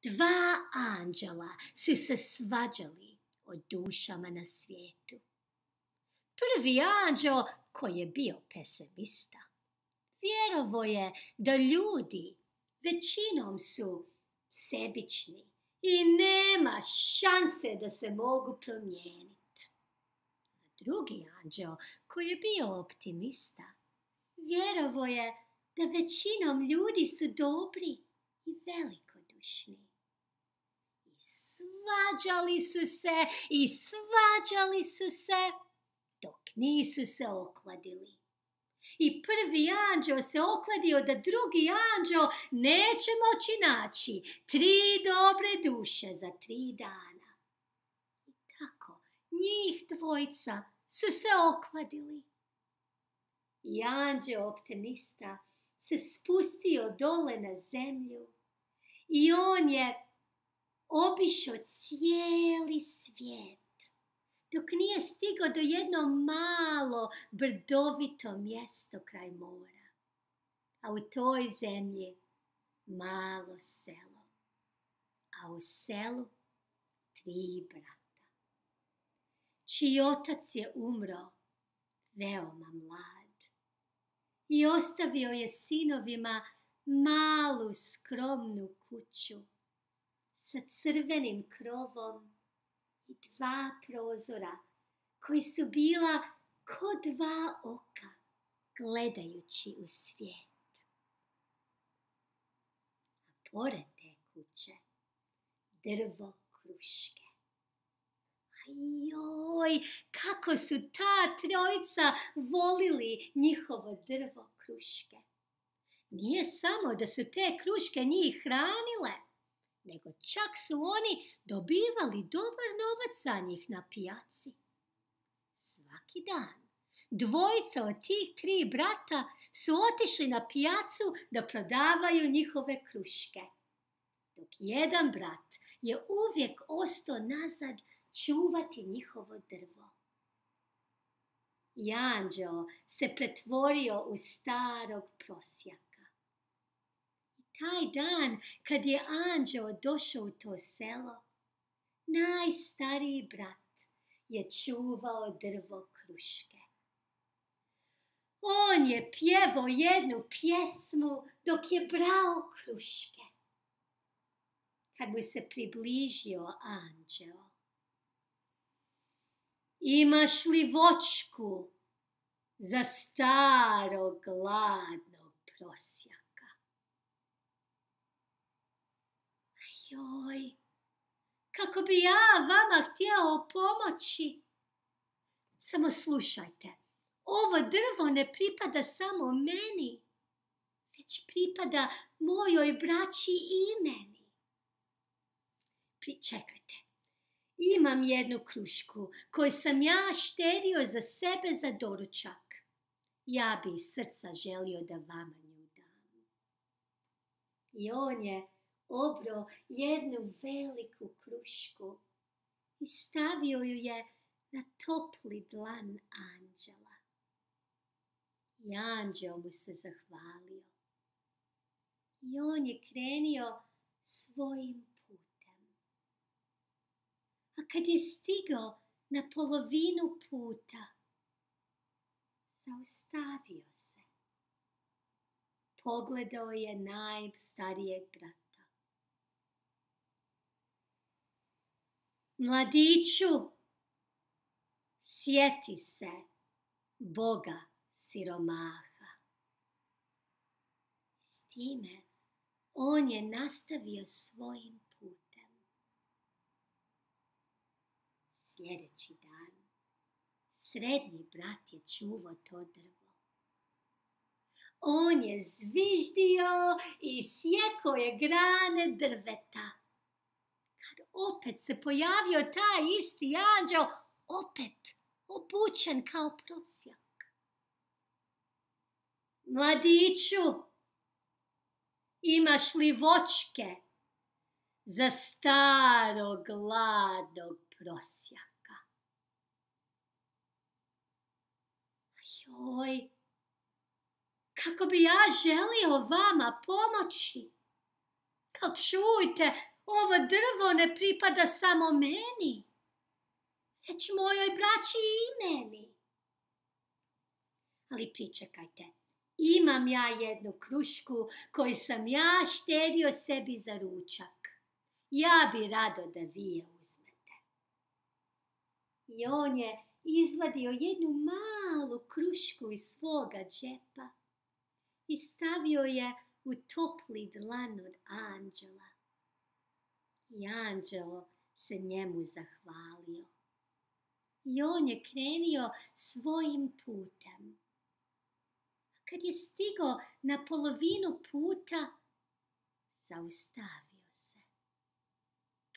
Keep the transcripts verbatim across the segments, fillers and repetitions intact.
Dva anđela su se svađali o dušama na svijetu. Prvi anđeo, koji je bio pesimista, vjerovo je da ljudi većinom su sebični i nema šanse da se mogu promijeniti. Drugi anđeo, koji je bio optimista, vjerovo je da većinom ljudi su dobri i velikodušni. I svađali su se i svađali su se dok nisu se okladili. I prvi anđeo se okladio da drugi anđeo neće moći naći tri dobre duše za tri dana. I tako njih dvojica su se okladili. I anđeo optimista se spustio dole na zemlju i on je obišao cijeli svijet, dok nije stigao do jedno malo brdovito mjesto kraj mora. A u toj zemlji malo selo. A u selu tri brata, čiji otac je umro veoma mlad i ostavio je sinovima malu skromnu kuću sa crvenim krovom i dva prozora koji su bila ko dva oka gledajući u svijet. A pored te kuće drvo kruške. Ajoj, kako su ta trojica volili njihovo drvo kruške. Nije samo da su te kruške njih hranile, nego čak su oni dobivali dobar novac za njih na pijaci. Svaki dan dvojica od tih tri brata su otišli na pijacu da prodavaju njihove kruške, dok jedan brat je uvijek ostao nazad čuvati njihovo drvo. I anđeo se pretvorio u starog prosjaka. Taj dan, kad je anđeo došao u to selo, najstariji brat je čuvao drvo kruške. On je pjevao jednu pjesmu dok je brao kruške. Kad mu se približio anđeo: imaš li voćku za starog gladnog prosjaka? Joj, kako bi ja vama htjeo pomoći. Samo slušajte, ovo drvo ne pripada samo meni, već pripada mojoj braći i meni. Pričekajte, imam jednu krušku koju sam ja štedio za sebe za doručak. Ja bi iz srca želio da vama nju dam. I on je obrao jednu veliku krušku i stavio ju je na topli dlan anđela. I anđeo mu se zahvalio. I on je krenio svojim putem. A kad je stigao na polovinu puta, zaustavio se. Pogledao je najstarijeg brata. Mladiću, sjeti se Boga siromaha. S time on je nastavio svojim putem. Sljedeći dan srednji brat je čuvao to drvo. On je zviždio i sjekao je grane drveta. Opet se pojavio taj isti anđeo, opet obučen kao prosjak. Mladiću, imaš li voćke za starog gladnog prosjaka? Joj, kako bi ja želio vama pomoći. Kao čujte, ovo drvo ne pripada samo meni, već mojoj braći i meni. Ali pričekajte, imam ja jednu krušku koju sam ja štedio sebi za ručak. Ja bi rado da vi je uzmete. I on je izvadio jednu malu krušku iz svoga džepa i stavio je u topli dlan od anđela. I anđelo se njemu zahvalio. I on je krenio svojim putem. Kad je stigao na polovinu puta, zaustavio se.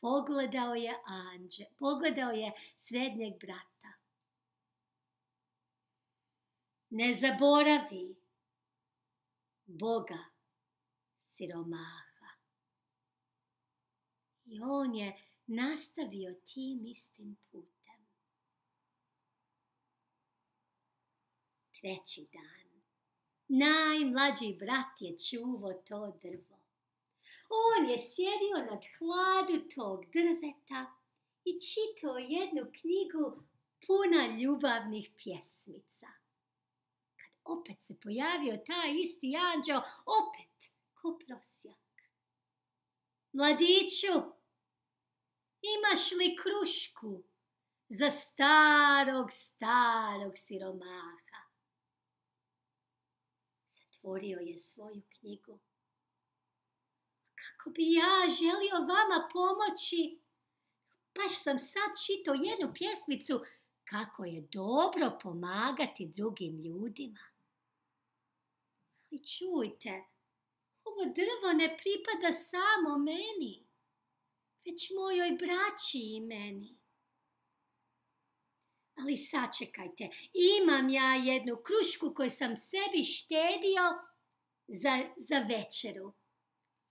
Pogledao je anđe, pogledao je srednjeg brata. Ne zaboravi Boga siromaha. I on je nastavio tim istim putem. Treći dan. Najmlađi brat je čuvao to drvo. On je sjedio nad hladu tog drveta i čitao jednu knjigu puna ljubavnih pjesmica. Kad opet se pojavio taj isti anđeo, opet ko prosjak. Mladiću, imaš li krušku za starog, starog siromaha? Zatvorio je svoju knjigu. Kako bi ja želio vama pomoći? Baš sam sad čitao jednu pjesmicu kako je dobro pomagati drugim ljudima. Ali čujte, ovo drvo ne pripada samo meni, već mojoj braći i meni. Ali sačekajte, imam ja jednu krušku koju sam sebi štedio za, za večeru.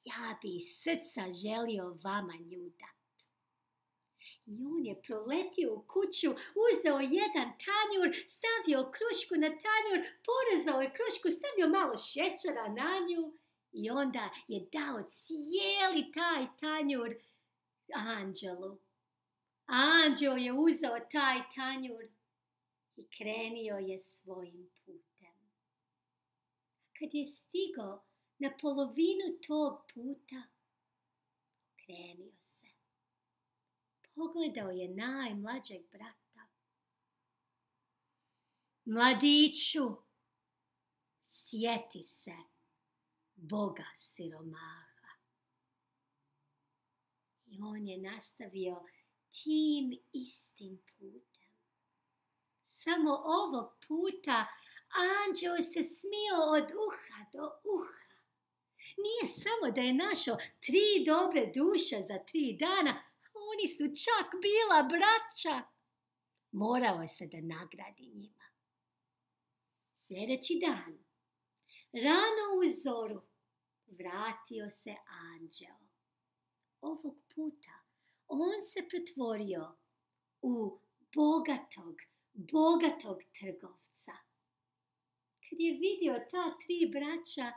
Ja bi iz srca želio vama nju dat. I on je proletio u kuću, uzeo jedan tanjur, stavio krušku na tanjur, porezao je krušku, stavio malo šećera na nju i onda je dao cijeli taj tanjur anđelu. Anđeo je uzeo taj tanjur i krenio je svojim putem. Kad je stigao na polovinu tog puta, okrenio se. Pogledao je najmlađeg brata. Mladiću, sjeti se Boga siromaha. I on je nastavio tim istim putem. Samo ovog puta anđeo se smio od uha do uha. Nije samo da je našao tri dobre duše za tri dana, oni su čak bila braća. Morao je se da nagradi njima. Sljedeći dan, rano u zoru, vratio se anđeo. Ovog puta on se pretvorio u bogatog, bogatog trgovca. Kad je vidio ta tri braća,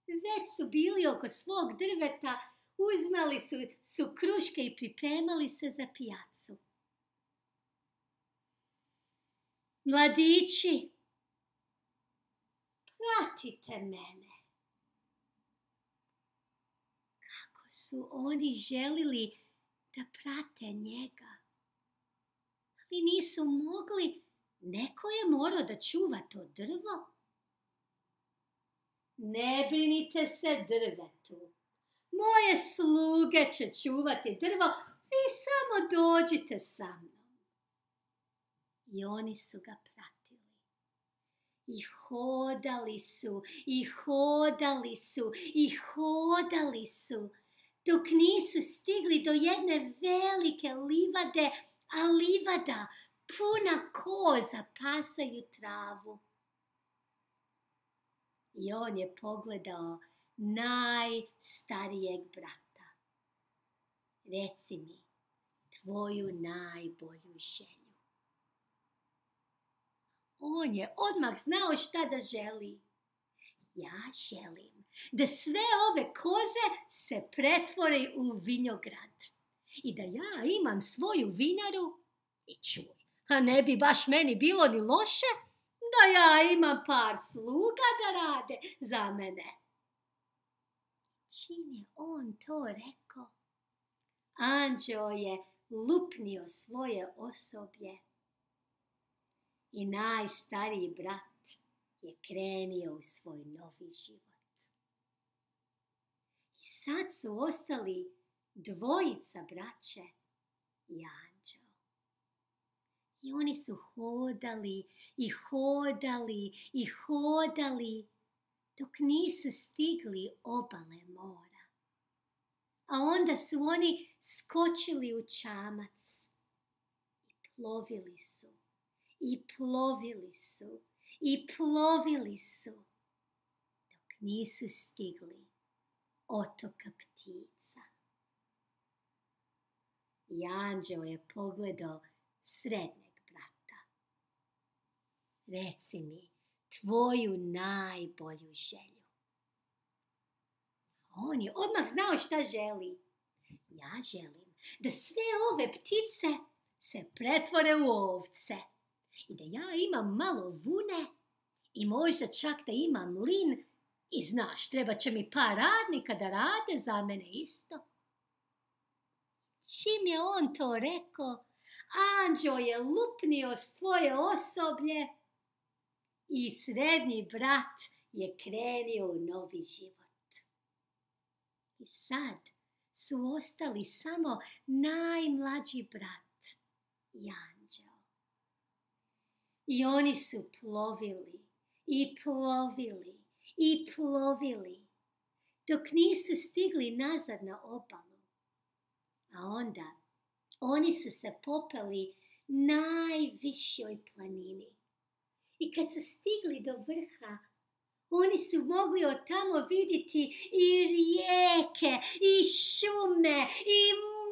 već su bili oko svog drveta, uzmali su, su kruške i pripremali se za pijacu. Mladići, pratite mene. Kako su oni želili da prate njega. Ali nisu mogli, neko je morao da čuva to drvo. Ne brinite se drvetu. Moje sluge će čuvati drvo, vi samo dođite sa mnom. I oni su ga pratili. I hodali su, i hodali su, i hodali su, dok nisu stigli do jedne velike livade, a livada puna koza pasaju travu. I on je pogledao najstarijeg brata. Reci mi tvoju najbolju želju. On je odmah znao šta da želi. ja želim da sve ove koze se pretvore u vinograd i da ja imam svoju vinaru i čuj, a ne bi baš meni bilo ni loše da ja imam par sluga da rade za mene. Čim je on to rekao, anđeo je lupnio svoje osoblje i najstariji brat je krenio u svoj novi život. I sad su ostali dvojica braće i anđeo. I oni su hodali i hodali i hodali dok nisu stigli obale mora. A onda su oni skočili u čamac i plovili su, i plovili su, i plovili su, dok nisu stigli otoka ptica. I anđeo je pogledao srednjeg brata. Reci mi tvoju najbolju želju. On je odmah znao šta želi. Ja želim da sve ove ptice se pretvore u ovce i da ja imam malo vune i možda čak da imam mlin i znaš, treba će mi par radnika da rade za mene isto. Čim je on to rekao, anđeo je lupnio svoje osoblje i srednji brat je krenio u novi život. I sad su ostali samo najmlađi brat i anđeo. I oni su plovili i plovili i plovili dok nisu stigli nazad na obalu. A onda oni su se popeli najvišoj planini. I kad su stigli do vrha, oni su mogli od tamo vidjeti i rijeke, i šume, i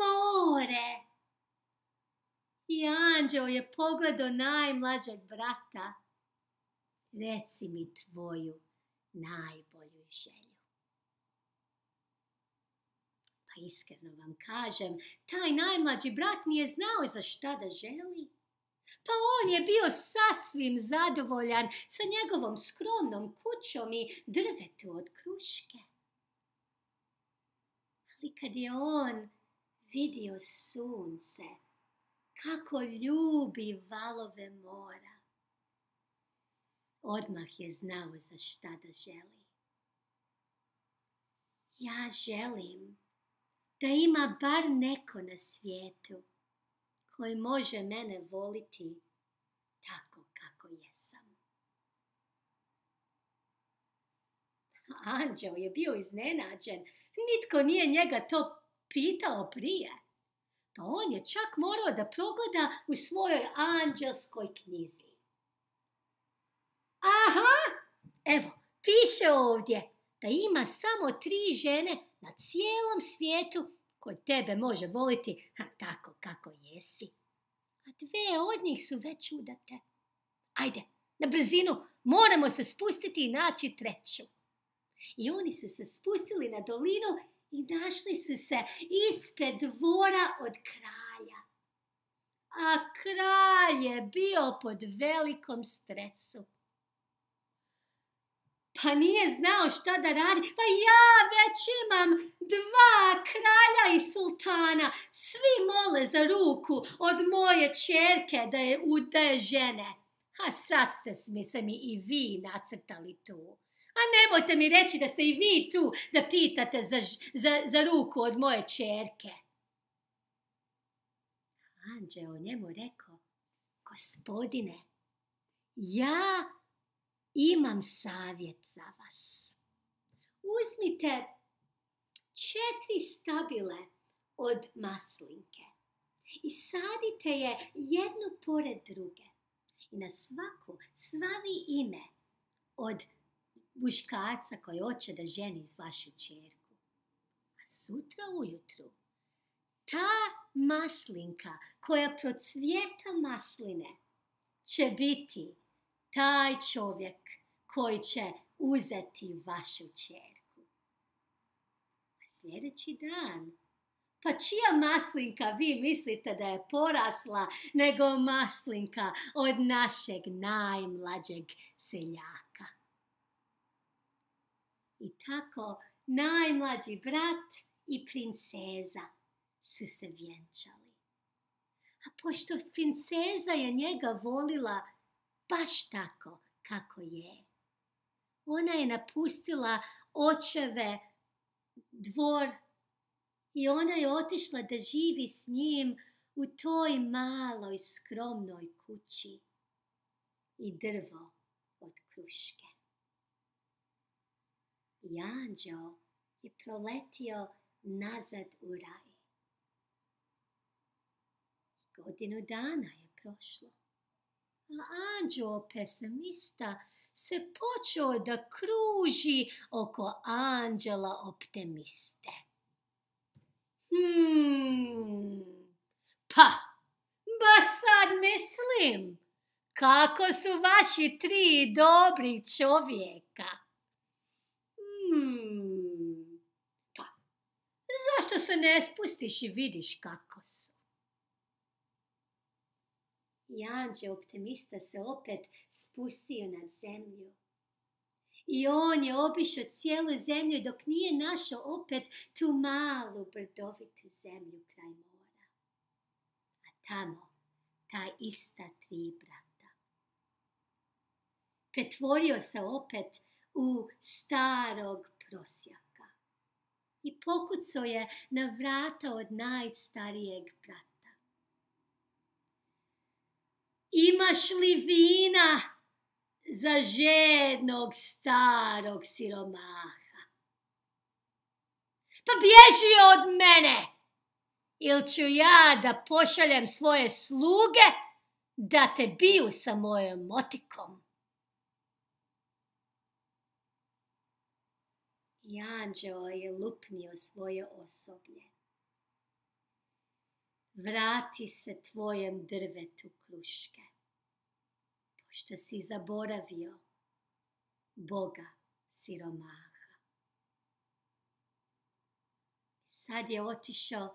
more. I anđeo je pogledao najmlađeg brata. Reci mi tvoju najbolju želju. Pa iskreno vam kažem, taj najmlađi brat nije znao za šta da želi. Pa on je bio sasvim zadovoljan sa njegovom skromnom kućom i drvetu od kruške. Ali kad je on vidio sunce, kako ljubi valove mora, odmah je znao za šta da želi. Ja želim da ima bar neko na svijetu koji može mene voliti tako kako jesam. Anđeo je bio iznenađen. Nitko nije njega to pitao prije. Pa on je čak morao da progleda u svojoj anđelskoj knjizi. Aha, evo, piše ovdje da ima samo tri žene na cijelom svijetu koje tebe može voliti ha, tako kako jesi. A dve od njih su već udate. Ajde, na brzinu, moramo se spustiti i naći treću. I oni su se spustili na dolinu i našli su se ispred dvora od kralja. A kralj je bio pod velikom stresu. Pa nije znao šta da radi. Pa ja već imam dva kralja i sultana. Svi mole za ruku od moje ćerke da je, da je žene. A sad ste mi se mi i vi nacrtali tu. A nemojte mi reći da ste i vi tu da pitate za, za, za ruku od moje ćerke. Anđeo njemu rekao, gospodine, ja imam savjet za vas. Uzmite četiri stabile od maslinke i sadite je jednu pored druge. I na svaku slavi ime od muškarca koji hoće da ženi vašu ćerku. A sutra ujutru ta maslinka koja procvjeta masline će biti taj čovjek koji će uzeti vašu ćerku. A sljedeći dan, pa čija maslinka vi mislite da je porasla nego maslinka od našeg najmlađeg seljaka? I tako najmlađi brat i princeza su se vjenčali. A pošto princeza je njega volila baš tako kako je, ona je napustila očeve dvor i ona je otišla da živi s njim u toj maloj skromnoj kući i drvo od kruške. I anđeo je proletio nazad u raj. Godinu dana je prošlo, a anđeo pesimista se počeo da kruži oko anđela optimiste. Hmm, pa, baš sad mislim, kako su vaši tri dobri čovjeka. Hmm, pa, zašto se ne spustiš i vidiš kako su? I anđeo optimista se opet spustio na zemlju. I on je obišao cijelu zemlju dok nije našao opet tu malu brdovitu zemlju kraj mora. A tamo ta ista tri brata. Pretvorio se opet u starog prosjaka i pokucao je na vrata od najstarijeg brata. Imaš li vina za žednog starog siromaha? Pa bježi od mene, ili ću ja da pošaljem svoje sluge da te biju sa mojom motikom. I anđeo je lupnio svoje osoblje. Vrati se tvojem drvetu kruške, pošto si zaboravio Boga siromaha. Sad je otišao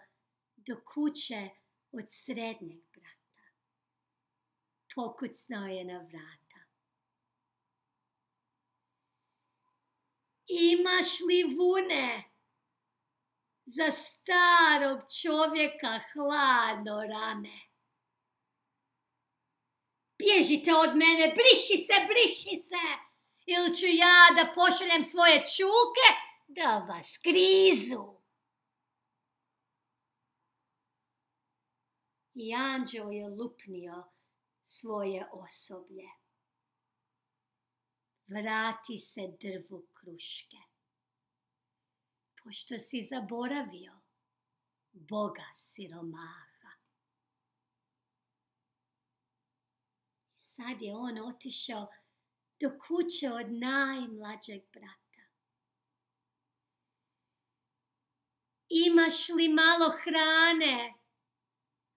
do kuće od srednjeg brata. Pokucnao je na vrata. Imaš li vune za starog čovjeka hladno rame? Bježite od mene, briši se, briši se, ili ću ja da pošaljem svoje čuke da vas grizu. I anđeo je lupnio svoje osoblje. Vrati se drvu kruške, pošto si zaboravio Boga siromaha. Sad je on otišao do kuće od najmlađeg brata. Imaš li malo hrane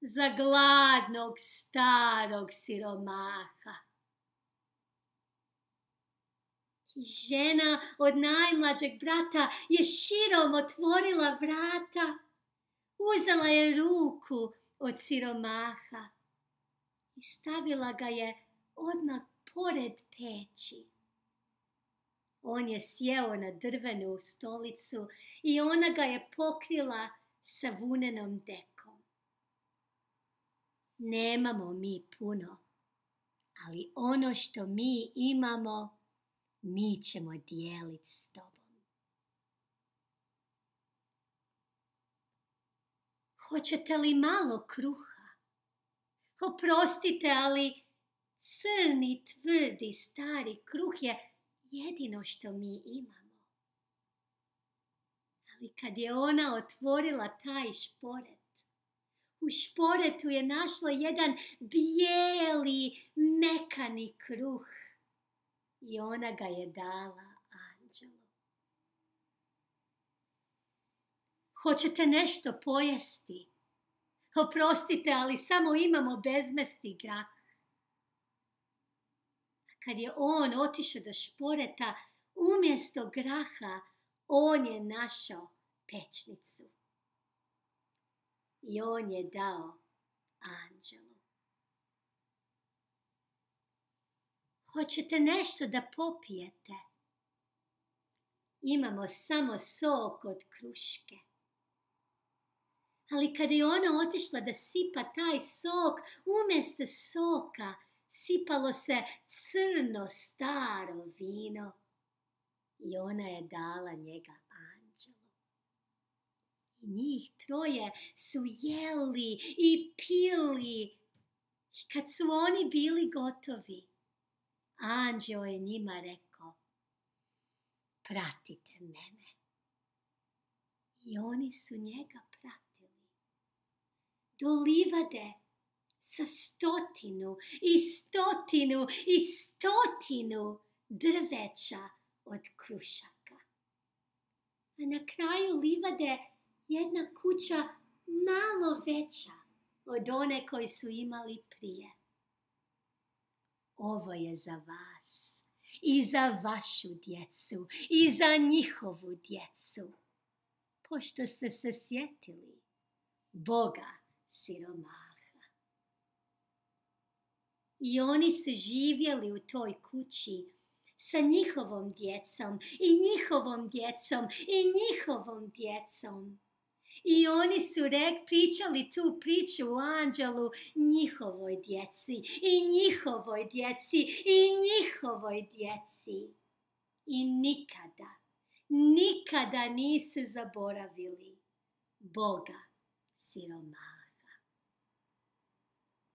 za gladnog starog siromaha? I žena od najmlađeg brata je širom otvorila vrata, uzela je ruku od siromaha i stavila ga je odmah pored peći. On je sjeo na drvenu stolicu i ona ga je pokrila sa vunenom dekom. Nemamo mi puno, ali ono što mi imamo, mi ćemo dijeliti s tobom. Hoćete li malo kruha? Oprostite, ali crni, tvrdi, stari kruh je jedino što mi imamo. Ali kad je ona otvorila taj šporet, u šporetu je našla jedan bijeli, mekani kruh. I ona ga je dala anđelu. Hoćete nešto pojesti? Oprostite, ali samo imamo bezmesti grah. Kad je on otišao do šporeta, Umjesto graha, on je našao pećnicu. I on je dao anđelu. Hoćete nešto da popijete? Imamo samo sok od kruške. Ali kada je ona otišla da sipa taj sok, umjesto soka sipalo se crno staro vino. I ona je dala njega anđelu. I njih troje su jeli i pili. I kad su oni bili gotovi, anđeo je njima rekao: pratite mene. I oni su njega pratili. Do livade sa stotinu i stotinu i stotinu drveća od krušaka. A na kraju livade jedna kuća malo veća od one koju su imali prije. Ovo je za vas i za vašu djecu i za njihovu djecu, pošto ste se sjetili Boga siromaha. I oni su živjeli u toj kući sa njihovom djecom i njihovom djecom i njihovom djecom. I oni su rek, pričali tu priču o anđelu njihovoj djeci i njihovoj djeci i njihovoj djeci. I nikada, nikada nisu zaboravili Boga siromaha.